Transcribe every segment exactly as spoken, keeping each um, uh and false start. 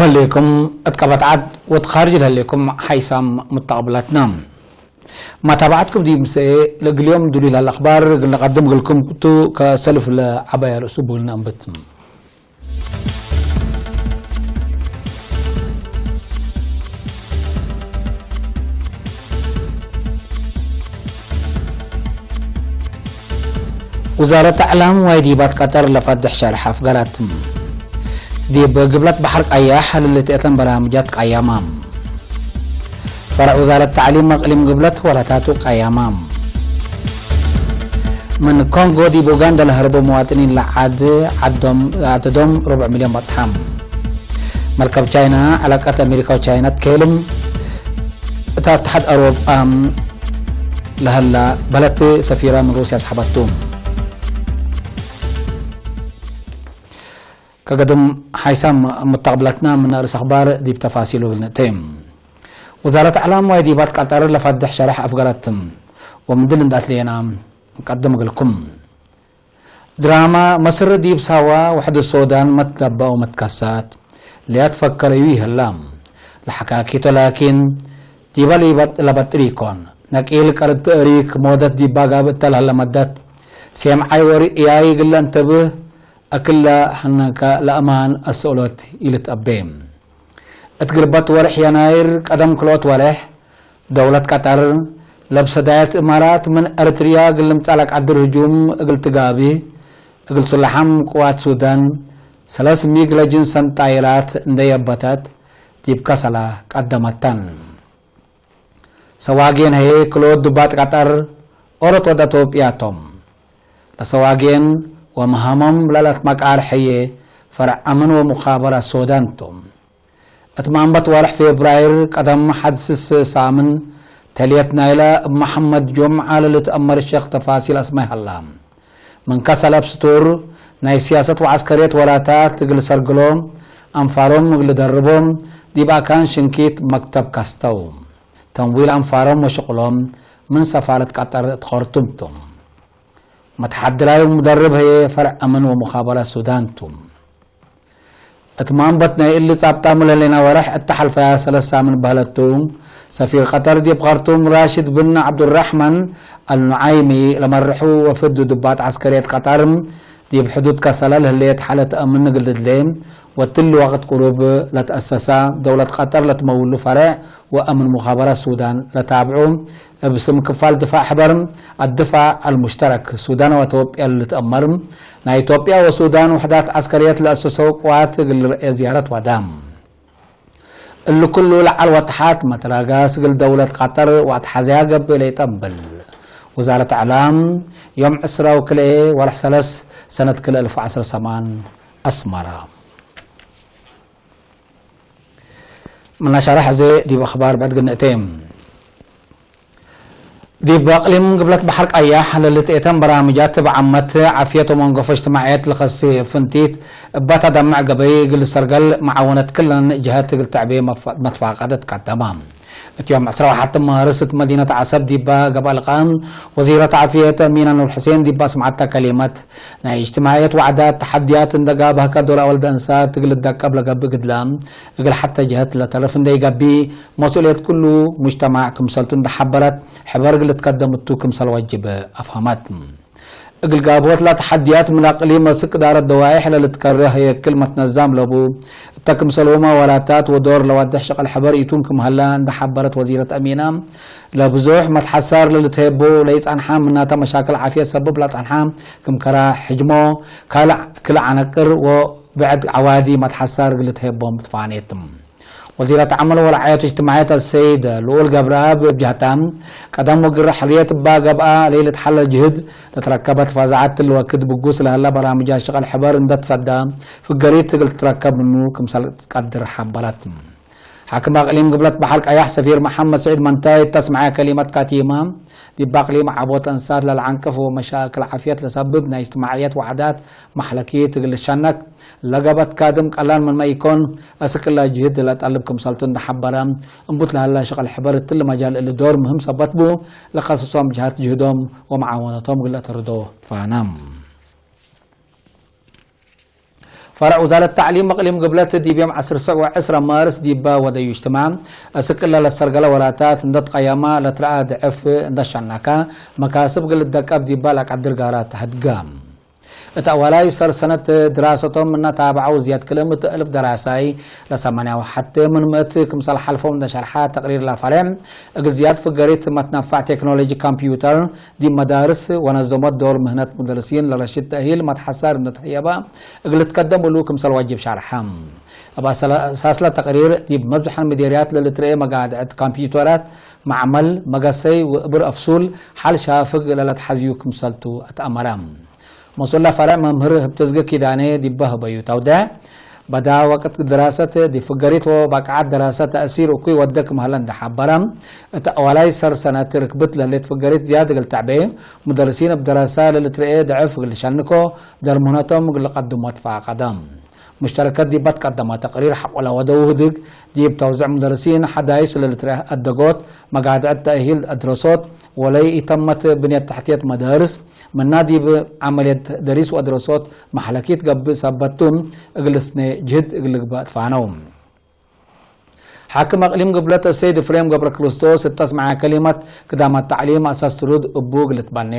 ለህሌኩም እት ቀበት ዐድ ወእት ካርጅ ለህሌኩም ሓይሳም ሙተቅብላትና። መታብዐትኩም ዲብ ምሰኤ ለእግል ዮም ዱሉይ ለህለ አኽባር እግል ነቀድም እግልኩም ቱ። ከሰልፍ ለዐባይ ርእሱ እቡ እግል ነአንብት። ውዛረት አዕላም ዋይ ዲባት ቀጠር ለፈድሕ ሸርሕ አፍገረት። ዲብ ግብለት በሐር ቀያሕ ለልትአተን በርናምጃት ቀያማ። ፈርዕ ውዛረት ተዕሊም አቅሊም ግብለት ወላታቱ ቀያማ። ምን ኮንጎ ዲብ ኡጋንዳ ለሀርቡ መዋጥኒን ለዐድ ዐዶም፣ ዐደዶም ርቡዕ ሚልዮን በጽሐ። መርከብ ቻይና ዐላቀት አሜሪካ ወቻይና ትኬልም። እት አትሓድ አውሮጳ ለሀላ በለት ሰፊራ ምን ሩስያ ሰሐበቱ። ከገድም ሓይሳም ሙተቅብላትና ምን ርእስ አኽባር ዲብ ተፋሲሉ እግል ንእቴ። ውዛረት አዕላም ዋይ ዲባት ቀጠር ለፈድሕ ሸርሕ አፍገረት። ወምድል እንደ አትሌና እንቀድም እግልኩም። ድራማ መስር ዲብ ሳዋ ወሕድ ሶዳን መትለበ ወመትከሳት ለያትፈከረዩ ይህላ። ለሐካኪቶ ላኪን ዲበ ለበጥር ኢኮን። ነቂል ቀርድ ትእሪክ ሞደት ዲባ ጋብእ እተ ለህለ መደት ሴምዓይ ወርእያይ እግል ለእንተብህ እክለ ሐነከ ለአማን አስእሎት ኢልትአቤ። እት ግርበት ወርሕ የናይር ቀደም ክልኦት ወርሕ፣ ደውለት ቀጠር ለብሰዳየት እማራት ምን ኤረትርያ እግል ልምጸእ ለቀድር ህጁም እግል ትጋብእ፣ እግል ሱላሓም ቅዋት ሱዳን ሰለስ ሚግ ለጅንሰን ጣይራት እንዴ የበተት ዲብ ከሰላ ቀደመተን። ሰዋጌን ህዬ ክልኦት ዱባት ቀጠር ኦሮት ወደ ኢትዮጵያ ቶም። ለሰዋጌን ወመሃሞም ለለትመቃር ሕዬ ፈርዕ አምን ወሙኻበራት ሶዳን ቱ። እት ማንበት ወርሕ ፌብራይር ቀደም ሐድ ስስ ሳምን ተልየት ናይለ እብ መሐመድ ጁምዓ ለልትአመር ሸክ ተፋሲል አስማይ ሀላ። ምን ከሰል አብ ስቱር ናይ ስያሰት ወዐስከርየት ወላታት እግል ሰርግሎ፣ አንፋሮም እግል ደርቦ፣ ዲብ አካን ሽንኪት መክተብ ከስተው። ተምዊል አንፋሮም ወሽቅሎም ምን ሰፋረት ቀጠር እት ኸርቱም ቱ። መትሐድላይ ወሙደርብ ህዬ ፈርዕ አምን ወሙኻበራት ሱዳን ቱ። እት ማንበት ናይ እሊ ጻብጣሙ ለህሌና ወርሕ እተ ሐልፈያ ሰለስ ሳምን በህለት ቱ። ሰፊር ቀጠር ዲብ ኸርቱም ራሽድ ብን ዐብዱራሕማን አልኑዓይሚ ለመርሑ ወፍድ ዱባት ዐስከርየት ቀጠር ዲብ ሕዱድ ከሰለ ለህሌት ሓለት አምን እግል ትድሌ ወእትሊ ወቅት ቅሩብ ለትአሰሳ ደውለት ቀጠር ለትመውሉ ፈርዕ ወአምን ሙኻበራት ሱዳን ለታብዑ እብ ስም ክፋል ድፋዕ ሕበር አድፋዕ አልሙሽተረክ ሱዳን ወኢትዮጵያ ልትአመር፣ ናይ ኢትዮጵያ ወሱዳን ውሕዳት ዐስከርየት ለአሰሰው ቅዋት እግል ልርኤ ዝያረት ወደ። እሊ ኩሉ ለዐል ወተሓት መትራጋስ እግል ደውለት ቀጠር ወአትሓዝያ ገብእ ለይጠብል። ውዛረት አዕላም፣ ዮም ዕስራ ወክልኤ ወርሕ ሰለስ ሰነት ክልኤ አልፍ ወዐስር ሰማን፣ አስመራ። ምነ ሸርሕ አዜ ዲብ አኽባር ብዕድ ግንእቴ። ዲብ አቅሊም ግብለት በሐር ቀያሕ ለልትኤተን በራምጃት እብ ዓመት ዓፍየት ወመንገፎ እጅትማዕየት ለኸሴ ፍንቲት እባ ተደምዕ ገበይ እግል ሰርገል መዓወነት ክለን ጀሀት እግል ተዕቤ መፍ-፣ መትፋቀደት ቀደመ። እት ዮም ዕስራ ወሐት ማርስ እት መዲነት ዐሰብ ዲባ ገብአ ልቃእ ወዚረት ዓፍየት አሚና ኑር ሕሴን ዲባ አስምዐተ ከሊመት፣ ናይ እጅትማዕየት ወዕዳት ተሐድያት እንደ ጋብሀከ ዶል አወልደ እንሳት እግል ልትደቀብ ለገብእ ግድለ፣ እግል ሐተ ጀሀት ለተርፍ እንደ ኢገብእ፣ መስኡልየት ኩሉ ሙጅተማዕ ክምሰልቱ እንደ ሐበረት፣ ሕበር እግል ልትከደም እቱ ክምሰል ወጅብ አፍሀመት። እግል ጋብሆት ለተሐድያት ምን አቅሊም አስክ እዳረት ደዋይሕ ለልትከረህ የክል መትነዛም ለቡ፣ እተ ክምሰልሁመ ወላታት ወዶር ለዋድሕ ሸቀል ሕበር ኢቱን ክም ሀላ እንደ ሐበረት ወዚረት አሚና፣ ለብዙሕ መትሐሳር ለልትሄቦ ለይጸንሐ ምናተ መሻክል ዓፍየት ሰብብ ለጸንሐ ክም ከራ፣ ሕጅሞ፣ ካልዕ ክል ዐነቅር ወብዕድ ዐዋዲ መትሐሳር እግል ልትሄቦም ትፋኔት። ወዚረት ዐመል ወረዓየት እጅትማዕየት አሰይድ ልኡል ገብረአብ እብ ጀህታ፣ ቀደም ወግረ ሕርየት እባ ገብአ ለኢልትሐለል ጅህድ ለትረከበት ፈዛዐት እሊ ወክድ ብጉስ ለህለ በራምጃት ሸቀል ሕበር እንደ ትሰዳ ፍገሪት እግል ትትረከብ ምኑ ክምሰል ትቀድር ሐበረት። ሓክም አቅሊም ግብለት በሐር ቀያሕ ሰፊር መሐመድ ስዒድ መንታይ እተ አስመዐ ከሊመት ካቲማ፣ ዲብ አቅሊም ዐቦት እንሳት ለለዐንቅፍ ወመሻክል ዓፍየት ለሰብብ ናይ እጅትማዕየት ወዐዳት መሕለኪት እግል ልሸነክ ለገበት ካድም ቀላል ምንመ ኢኮን፣ አስክ እለ ጅህድ ለጠልብ ክምሰልቱ እንደ ሐበረ፣ እምቡት ለሀላ ሸቀል ሕበር እትሊ መጃል እሊ ዶር ምህም ሰበት ቡ፣ ለከሰሶም ጀሀት ጅህዶም ወመዓወነቶም እግል ለአተርዶ ትፋነ። ፈርዕ ውዛረት ተዕሊም እቅሊም ግብለት ዲብ ዮም ዐስር ሰዕ ወዕስረ ማርስ ዲበ ወደዩ እጅትማዕ፣ እስክ እለ ለሰርገለ ወላታት እንደ ትቀየማ ለትረአ ድዕፍ እንደ ሸነከ፣ መካስብ እግል ልትደቀብ ዲበ ለቀድር ጋራት ተሀድገ። እት አዋላይ ሰር ሰነት ድራሰቶም ምነ ታብዐው ዝያድ ክልኤ ምእት እልፍ ደራሳይ፣ ለሰማንያ ወሐቴ ምን ምእት ክምሰል ሐልፈው እንደ ሸርሐ ተቅሪር ለፈሬዕ፣ እግል ዝያድ ፍገሪት መትነፋዕ ቴክኖሎጂ ኮምፒውተር ዲብ መዳርስ ወነዘሞት ዶር ምህነት ሙደርሲን ለረሽድ ተእሂል መትሐሳር እንደ ተህየበ እግል ልትከደም እሉ ክምሰል ዋጅብ ሸርሐ። እብ አሳስለ ተቅሪር፣ ዲብ መብዝሐን ምዴርያት ለልትረኤ መጋድዐት ኮምፒውተራት፣ መዕመል፣ መገሰይ ወእብር አፍሱል ሐል ሻፍግ ለለትሐዝዩ ክምሰልቱ አትአመረ። መስኡል ፈርዕ መምህር ህብተዝገ ኪዳኔ ዲበ ህበዩ ተውደዕ፣ በዳ ወቅት ድራሰት ዲብ ፍገሪት ወባቅዓት ደራሰት ተእሲር እኩይ ወደ ክም ሀለ እንደ ሐበረ፣ እት አዋላይ ሰር ሰነት ርክብት ለህሌት ፍገሪት ዝያድ እግል ተዕቤ፣ ሙደርሲን እብ ደራሳ ለልትረኤ ደዕፍ እግል ልሸንኮ፣ ደርሙነቶም እግል ልቀድሞ ትፋቀደ። ሙሽተረከት ዲብ በትቀደመ ተቅሪር ሐቆለ ወደው ህድግ፣ ዲብ ተውዘዕ ሙደርሲን ሐዳይስ ለልትረኤ አደጎት፣ መጋድዐት ተእሂል አድረሶት፣ ወለይ ኢተመት ብንየት ተሕትየት መዳርስ፣ ምና ዲብ ዐመልየት ደሪስ ወአድረሶት መሕለኪት ገብእ ሰበት ቱ፣ እግል ስኔ ጅህድ እግል ልግበእ ትፋነው። ሓክም አቅሊም ግብለት ሰይድ እፍሬም ገብረክርስቶስ እተ አስመዐ ከሊመት፣ ክዳማት ተዕሊም አሳስ ትሩድ እቡ እግል ልትበኔ፣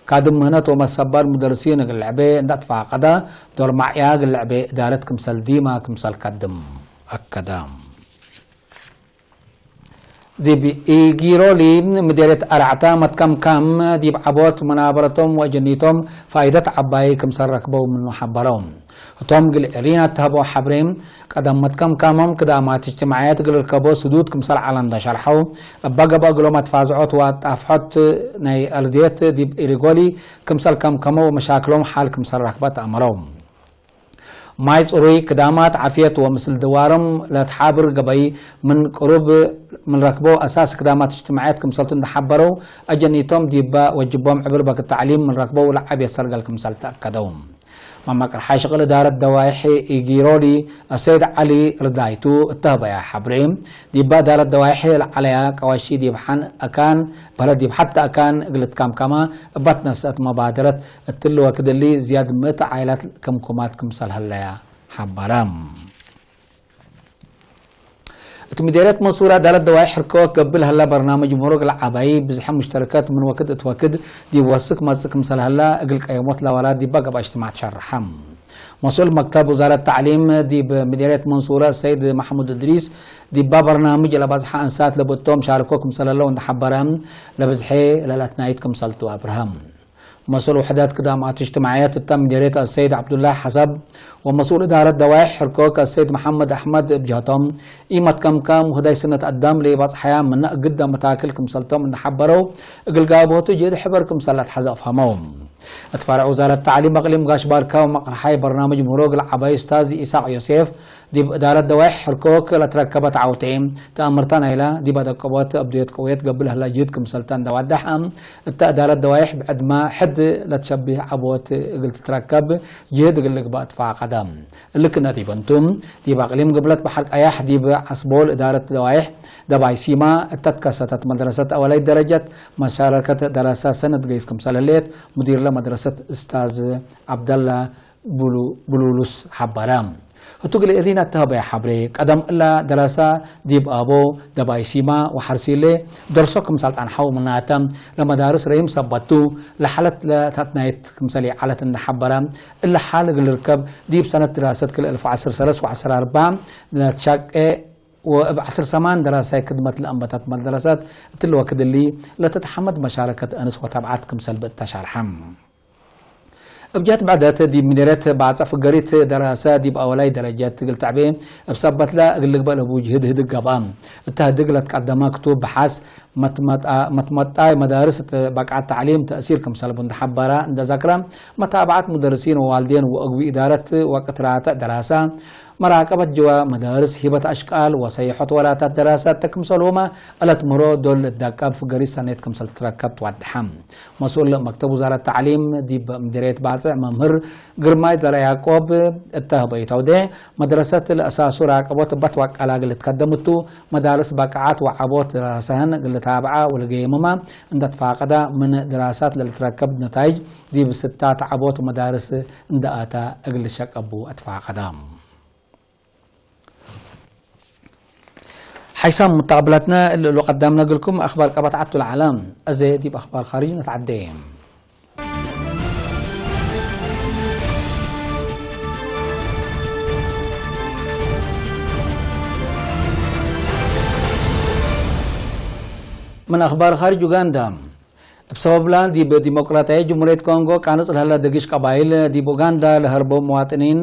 ካድም ምህነት ወመሰባል ሙደርሲን እግል ለዕቤ እንደ አትፋቀደ፣ ዶር ማዕያ እግል ለዕቤ እዳረት ክምሰል ዲማ ክምሰል ከድም አከደ። ዲብ ኢጊሮሊ ምዴርየት አርዕተ መትከምካም ዲብ ዐቦት መናበረቶም ወአጀኒቶም ፋይደት ዐባይ ክምሰል ረክበው ምኑ ሐበረው። ህቶም እግል ኤሪና እተሀበው ሐብሬ፣ ቀደም መትከምካሞም ክዳማት እጅትማዕየት እግል ርከቦ ስዱድ ክምሰል ዐለ እንደ ሸርሐው፣ እበ ገብአ እግሎም አትፋዝዖት ወአጣፍሖት ናይ አርድየት ዲብ ኢሪጎሊ ክምሰል ከምከመው ወመሻክሎም ሐል ክምሰል ረክበ ተአመረው። ማይ ጽሩይ፣ ክዳማት ዓፍየት ወምስል ድዋሮም ለትሓብር ገበይ ምን ቅሩብ ምን ረክበው አሳስ ክዳማት እጅትማዕየት ክምሰልቱ እንደ ሐበረው፣ አጀኒቶም ዲበ ወጅቦም ዕብር በክት ተዕሊም ምን ረክበው ለዐብ የሰርገል ክምሰል ተአከደው። መመቅርሓይ ሽቅል እዳረት ደዋይሕ ኢጊሮሊ አሰይድ ዐሊ ርዳይቱ እተህበያ ሐብሬ፣ ዲበ እዳረት ደዋይሕ ለዐለያ ቀዋሺ ዲብ ሐን አካን በለድ ዲብ ሐተ አካን እግል ትካምካማ እባ ትነሰአት መባደረት እትሊ ወክድ እሊ ዝያድ ምእት ዓይላት ከምኩማት ክምሰል ሀለያ ሐበረ። እት ምዴርየት መንሱር አዳለት ደዋይ ሕርኮ ገብእ ለሀለ በርናምጅ ምሩቅ ለዐባይ ብዝሐ ሙሽተረከት ምን ወክድ እት ወክድ ዲብ ወስክ መጽእ ክምሰል ሀለ እግል ቀየሞት ለወላ ዲባ ገብአ እጅትማዕ ተሸርሐ። መስኡል መክተብ ውዛረት ተዕሊም ዲብ ምዴርየት መንሱረ ሰይድ መሕሙድ እድሪስ፣ ዲባ በርናምጅ ለበዝሐ አንሳት ለብእቶም ሻርኮ ክምሰል ሀለው እንደ ሐበረ፣ ለብዝሐ ለለአትናይት ክምሰልቱ አብርሀ። መስኡል ውሕደት ክዳማት እጅትማዕየት እተ ምዴርየት አሰይድ ዐብዱላህ ሐሰብ ወመስኡል እዳረት ደዋይሕ ሕርኮክ አሰይድ መሐመድ አሕመድ እብ ጀህቶም፣ ኢመትከምካም ወህዳይ ስነት አዳም ለኢበጽሐያ ምነ እግደ መታክል ክምሰልቶም እንደ ሐበረው፣ እግል ጋብሆቱ ጅህድ ሕበር ክምሰል ለአትሐዘ አፍሀመው። እት ፈርዕ ውዛረት ተዕሊም አቅሊም ጋሽ ባርካ ወመቅርሓይ በርናምጅ ምሩቅ ለዐባይ ኡስታዝ ኢሳቅ ዮሴፍ፣ ዲብ እዳረት ደዋይሕ ሕርኮክ ለትረከበት ዐውቴ፣ ተአምርተ ናይላ ዲብ አደቀቦት አብድዮት ቅውየት ገብእ ለህላ ጅህድ ክምሰልተ እንደ ዋደሐ፣ እተ እዳረት ደዋይሕ ብዕድመ ሕድ ለትሸብህ ዐቦት እግል ትትረከብ ጅህድ እግል ልግበእ ትፋቀደ። እሊ ክነ ዲብ እንቱ፣ ዲብ አቅሊም ግብለት በሐር ቀያሕ ዲብ ዐስቦል እዳረት ደዋይሕ ደባይ ሲማ እተ ትከሰተት መድረሰት አወላይት ደረጀት መሻረከት ደረሰ ሰነት ገይስ ክምሰል ህሌት ሙዲርለ መድረሰት እስታዝ ዐብደላ ብሉ-፣ ብሉሉስ ሐበረ። ህቱ እግል እሪና እተሀበየ ሐብሬ፣ ቀደም እላ ደረሰ ዲብ አቦ ደባይ ሲማ ወሐርሲሌ ደርሶ ክምሰል ጸንሐው፣ ምናተ ለመዳርስ ረሂም ሰበት ቱ፣ ለሐለት ለተትናየት ክምሰል ይዐለት እንደ ሐበረ፣ እለ ሐል እግል ልርከብ ዲብ ሰነት ድራሰት ክልኤ አልፍ ወዐስር ሰለስ ወዐስር አርበዕ ለትሻቄ ወእብ ዐስር ሰማን ደራሳይ ክድመት ለአንበተት መድረሰት እትሊ ወክድ እሊ ለተትሐመድ መሻረከት አንስ ወተብዓት ክምሰል ብእት ተሻርሐ። እብ ጀህት ብዕደት ዲብ ምዴርየት ባጽዕ ፍገሪት ደራሰ ዲብ አወላይ ደረጀት እግል ተዕቤ እብ ሰበትለ እግል ልግበእ ለቡ ጅህድ ህድግ ገብአ። እተ ህድግ ለትቀደመ ክቱብ ብሐስ መትመጣ-፣ መትመጣይ መዳርስ እት በቅዓት ተዕሊም ተእሲር ክምሰል ቡ እንደ ሐበረ እንደ ዘክረ፣ መታብዐት ሙደርሲን ወዋልዴን ወእግል ኢዳረት ወቅት ራትዕ ደራሰ መራቀበት ጅወ መዳርስ፣ ሂበት አሽቃል ወሰይሖት ወላታት ደራሳት ክምሰልሁመ እለት ምሮ ዶል ልትዳቀብ ፍገሪ ሰኔት ክምሰል ትረከብ ትዋድሐ። መስኡል መክተብ ውዛረት ተዕሊም ዲብ ምዲርየት ባጽዕ መምህር ግርማይ ዘረ ያዕቆብ እተ ህበይተው ዴ፣ መድረሰት ለአሳሱ ራቀቦት እበት ወቀላ እግል ልትከደም እቱ፣ መዳርስ በቃዓት ወዐቦት ድራሰህን እግል ልታብዐ ወልገየምመ እንደ ትፋቀደ፣ ምን ድራሳት ለልትረከብ ነታይጅ ዲብ ስታት ዐቦት ወመዳርስ እንደ አተ እግል ልሸቀቡ አትፋቀደ። ሓይሳም ሙተቀብላትነ እሊ እሉ ቀዳምነ እግልኩም አክባር ቀበት ዐቱ ለዐለ። አዜ ዲብ አክባር ካርጅ ነትዐዴ። ምን አክባር ካርጅ ኡጋንዳ። እብ ሰበብላ ዲብ ዲሞቅራትያይት ጅምሁርየት ኮንጎ ቃንጽ ለህለ ደግሽ ቀባይል፣ ዲብ ኡጋንዳ ለሀርበው መዋጥኒን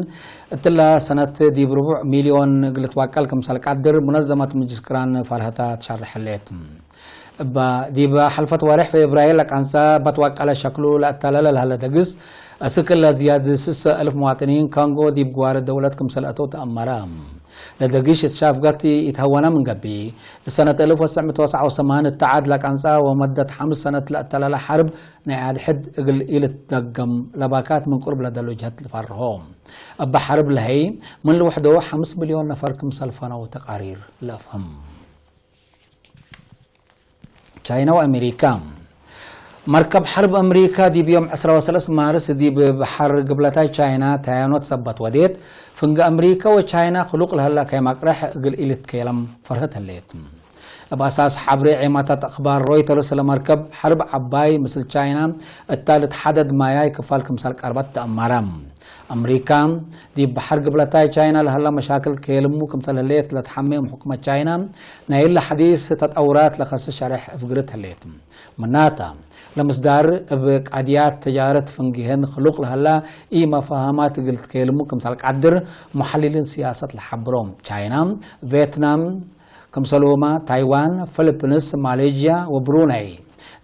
እትላ ሰነት ዲብ ርቡዕ ሚልዮን እግል ልትዋቀል ክምሰል ቀድር ሙነዘመት ምጅልስ ቅራን ፈርሀታ ትሸርሕ ህሌት። እባ ዲብ ሐልፈት ወሬሕ ፌብራይር ለቀንጸ በትወቀለ ሸክሉ ለአተላለ ለሀለ ደግስ፣ አስክ ለዝያድ ስሰ እልፍ መዋጥኒን ካንጎ ዲብ ግዋረ ደውለት ክምሰል አተው ተአመረ። ለደግሽ እት ሻፍጋት ኢትሀወነ ምን ገብእ፣ እሰነት አልፍ ወትሰዕ ምእት ወትስዓ ወሰማንያ እተ ዐድ ለቀንጸ ወመደት ሐምስ ሰነት ለአተላለ ሐርብ ናይ አድሕድ እግል ኢልትደገም ለባካት ምን ቅሩብ ለደሉ ጀህት ልፈርሆ። እበ ሐርብ ለሀይ ምን ልውሕዶ ሐምስ ሚልዮን ነፈር ክምሰል ፈነው ተቃሪር ለአፍህም። ቻይና ወአሜሪካ። መርከብ ሐርብ አሜሪካ ዲብ ዮም ዕስራ ወሰለስ ማርስ ዲብ በሐር ግብለታይ ቻይና ታያኖት ሰበት ወዴት፣ ፍንገ አሜሪካ ወቻይና ክሉቅ ለህላ ከይ መቅረሕ እግል ኢልትኬለም ፈርህት ህሌት። እብ አሳስ ሐብሬ ዔማታት አክባር ሮይተርስ፣ ለመርከብ ሐርብ ዐባይ ምስል ቻይና እታ ልትሐደድ ማያይ ክፋል ክምሰል ቀርበት ተአመረ። አምሪካ፣ ዲብ በሐር ግብለታይ ቻይና ለሀላ መሻክል ኬልሙ ክምሰል ህሌት ለትሐሜ ሕኩመት ቻይና፣ ናይ እለ ሐዲስ ተጠውራት ለከስስ ሸሬሕ እፍግርት ህሌት። ምናተ፣ ለምስዳር እብ ቃድያት ተጃረት ፍንጌህን ክሉቅ ለሀላ ኢመፋሃማት እግል ትኬልሙ ክምሰል ቀድር፣ ሙሐልሊን ሲያሰት ለሐብሮ። ቻይና፣ ቬትናም፣ ክምሰልሁመ ታይዋን፣ ፊሊፒንስ፣ ማሌዥያ ወብሩናይ፣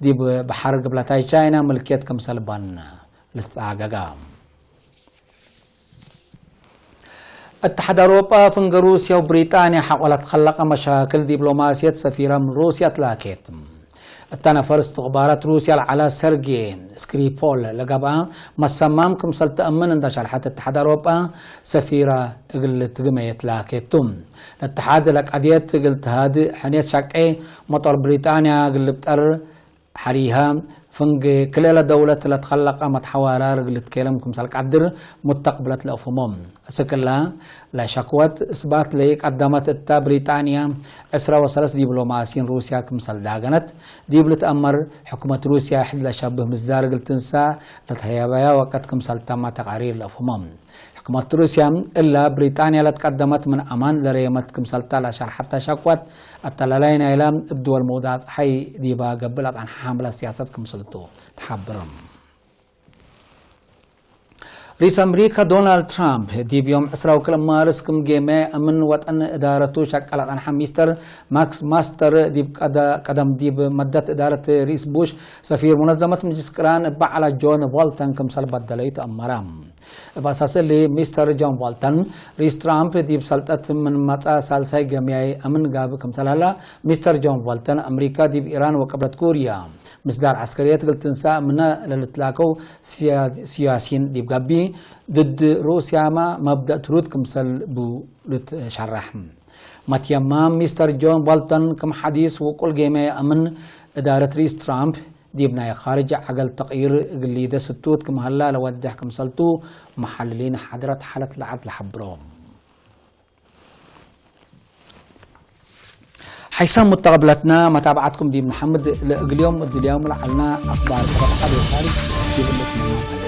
ዲብ በሐር ግብለታይ ቻይና ምልክየት ክምሰል በን ልትጻገጋ። እትሓድ አውሮጳ ፍንገ ሩስያ ወብሪጣንያ ሐቆ ለትከለቀ መሻክል ዲፕሎማስየት ሰፊረም ሩስያ ትላኬት። እተ ነፈር እስትኽባራት ሩስያ ለዐለ ሰርጌ ስክሪፖል ለገብአ መሰማም ክምሰል ተአምን እንደ ሸርሐት እትሓድ አውሮጳ ሰፊረ እግል ትግመየት ላኬቱ። ለእትሓድ ለቀድየት እግል ተሃድእ ሕኔት ሸቄ መጦር ብሪጣንያ እግል ልብጠር ሐሪሀ፣ ፍንጌ ክልኤ ለደውለት ለትከለቀ መትሐዋራር እግል ልትኬለም ክምሰል ቀድር ሙተቅብለት ለአፍህሞ። እስክላ ለሸክወት እስባት ለኢቀደመት እተ ብሪጣንያ፣ ዕስራ ወሰለስ ዲፕሎማሲን ሩስያ ክምሰል ዳገነት ዲብ ልትአመር፣ ሕኩመት ሩስያ ሕድ ለሸብህ ምስዳር እግል ትንሰእ ለተሀየበያ ወቅት ክምሰል ተመ ተቃሪር ለአፍህሞ። ሕክመት ሩስያ እላ ብሪጣንያ ለትቀደመት ምን አማን ለረየመት ክምሰልታ ለሸርሐተ ሸክወት፣ አተላላይ ናይላ እብ ድወል መውዳት ጸሓይ ዲባ ገብእ ለጸንሐ ሐምለ ሲያሰት ክምስልቱ ተሐብርም። ርኢስ አምሪካ ዶናልድ ትራምፕ ዲብ ዮም ዕስራ ወክልኤ ማርስ ክም ጌመ አምን ወጠን እዳረቱ ሸቀ ለጸንሐ ሚስተር ማክስ ማስተር ዲብ ቀደ-፣ ቀደም ዲብ መደት እዳረት ርኢስ ቡሽ ሰፊር ሙነዘመት ምጅልስ ቅራን እበ ዐለ ጆን ቦልተን ክምሰል በደለው ተአመረ። እብ አሳስ እሊ፣ ሚስተር ጆን ቦልተን፣ ርኢስ ትራምፕ ዲብ ሰልጠት ምን መጽአ ሳልሳይ ገምያይ አምን ጋብእ ክምሰል ሀላ፣ ሚስተር ጆን ቦልተን፣ አምሪካ ዲብ ኢራን ወቅብለት ኩርያ ምስዳር ዐስከርየት እግል ትንሰእ ምነ ለልትላከው ሲያ-፣ ሲያሲን ዲብ ገብእ፣ ድድ ሩስያመ መብደእ ትሩድ ክምሰል ቡ ልትሸረሕ። መትየማም ሚስተር ጆን ቦልተን ክም ሐዲስ ውቁል ጌመ አምን እዳረት ርኢስ ትራምፕ ዲብ ናይ ካርጅ ዐገል ተቅይር እግል ሊደ ስቱት ክም ሀላ ለወድሕ ክምሰልቱ መሐልሊን ሓድረት ሓለት ለዐድ ለሐብሮ። ሓይሳም ሙተቀብለትና መታብዓትኩም ዲብ ነሐምድ ለእግል ዮም እድልያም ለዐልና አክባር ቀበት ዐድ ወካርጅ ዲብ እለ ትመናት።